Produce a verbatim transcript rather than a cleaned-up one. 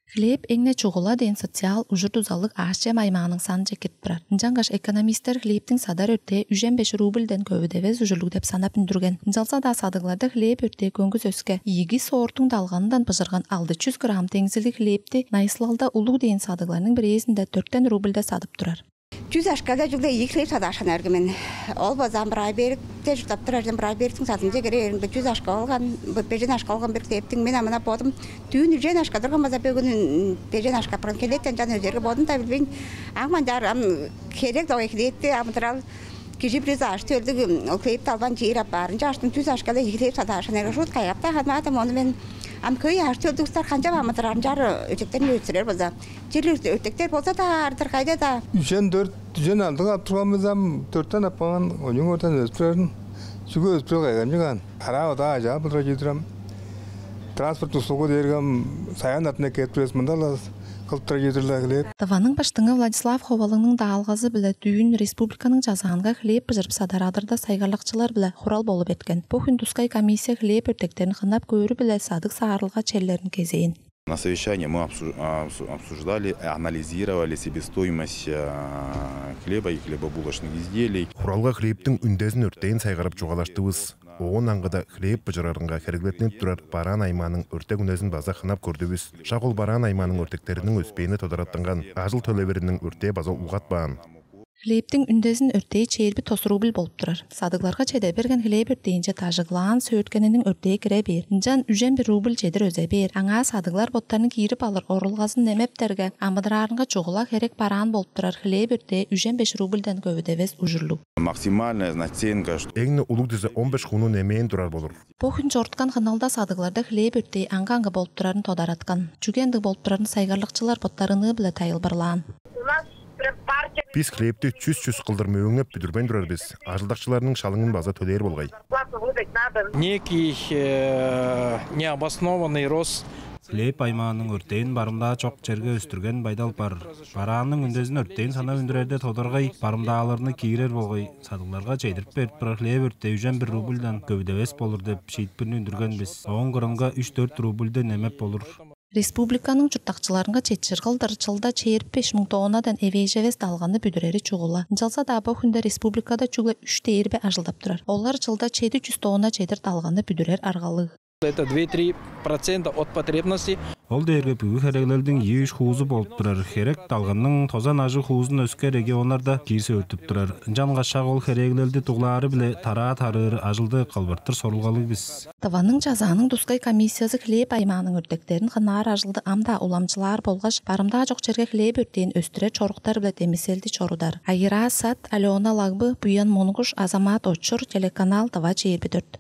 Хлеб эңне чугула ден социал ужурдузалык ашча майманың сан жекет турар. Жаңгаш экономисттер хлебтин садар өрте үжен беш рубльден көбүдебез ужурлук деп санап үндүрген. Жалса да садыгларда хлеб өрте көңгүз өскө ийги соортуң далгандан быжырган алты жүз грамм теңсилдик хлебти Найсылалда улуу ден садыгларның бирээсинде төрттен рубльда сатып турар. Жүз ашкада жылда екі хлеб садашан әргімен. Ол базан бір ай берік, те жұтап тұрардан бір ай беріктің сатынже кереріңді жүз ашқа олған, бежен ашқа олған бір хлебтің мен амына бодым. Түйін үжен ашқа тұрған база бөгін бежен ашқа бұрын келеттен жан өздерге бодым та білбейін. Ағман жар керек доғы хлебті амытырал кежі біріз ашты өлдігі ол хлебті албан жиырап барынша аштың жүз ашқада екі хлеб садашан әргі жұт қайапта қадматым оны мен Ам көй ашты өлдігістер қанша мамытырарын жары өтектерін өтсірер болса. Жерлі өтектер болса да ардыр қайда да. Үжен төрт, үжен алдың ап тұрғанымыздан төрттен аппаған, оның ортан өспірерін. Сүгі өспірер қайған жыған. Ара ода ажа бұлдыра жетірем. Транспорт ұсылғы дергім саян атына кетпірес мұндалас. Таваның баштыңы Владислав Ховалыңның да алғазы білі дүйін республиканың жазағанға хлеб пыжырып садарадырда сайғарлықчылар білі құрал болып еткен. Бұхын Тускай комиссия хлеб өртектерін қынап көрі білі садық саарылға челлерін кезейін. На совещании мы обсуждали, анализировали себестоимость хлеба и хлебобулочных изделий. Құралға хлебтің үндезін өрттейін сайғарып жоғалаштыбыз. Оғын аңғыда хлеб бұжырарынға кәргілетініп тұрар баран айманың өртек үнезін база қынап көрдібіз. Шағыл баран айманың өртектерінің өспейіні тодыраттынған ажыл төлеверінің өрте база ұғат баған. Хлебтің үндезін өртей чейірбі тос рубль болып тұрар. Садыгларға чеде берген хлеб өртейінше тажығылан сөйткенінің өртей кіре бер. Жан үжен бір рубль чедір өзе бер. Аңа садыглар боттарының киіріп алыр орылғасын немептерге амыдырарынға чоғыла керек баран болып тұрар. Хлеб өртей үжен беш рубльден көбідевез ұжырлу. Максимальная наценка. Эңні ұлық дізі он беш құны немейін тұрар болыр. Бұхын жорткан қыналда садыгларда хлеб өртей аңға-аңға болып тұрарын тодаратқан. Жүгенді болып тұрарын сайғарлықчылар боттарыны білі тайыл барлан. Біз хлебті чүз-чүз қылдырмы өңіп бүдірбен тұрар біз. Ажылдақшыларының шалыңын база төлер болғай. Некий необоснованный рост. Хлеб аймағының өртейін барымда чоқ жерге өстірген байдал бар. Баранның үндезін өртейін сана өндірерде тодырғай, барымдағаларыны кейірер болғай. Садыларға чейдіріп беріп бір хлеб өртей үжен бір рубльдан көбідевес болыр деп шейтпірін өндірген біз. оң қырынға үш төрт рубльден әмеп болыр. Республиканың жұрттақчыларынға четшір қылдырчылда чейіріп беш мың тоғынадан эвейжевес далғаны бүдірері чуғыла. Жалса да бұл хүнді республикада чуғла үш дейірбе ажылдап тұрар. Олар жылда чейді жүз тоғына чейдір далғаны бүдірер арғалы. Это два-три процента от потребностей. Ол дейірге бүгі херегілердің еш хуызы болып тұрар. Херек талғанның тозан ажы хуызын өске регионларда кейсі өтіп тұрар. Жанға шақ ол херегілерді тұғлары біле тара-тарыр ажылды қалбырттыр сорылғалы біз. Таваның жазаның Тускай комиссиясы хлеб аймағының өртектерін қынар ажылды амда уламчылар болғаш, барымда жоқ жерге хлеб өртейін өстіре чоруқтар біле демеселді чорудар. Айыра Сат, Алена Лагбы, Буян Монгуш, Азамат Очур, телеканал Тава Чейірбі төрт.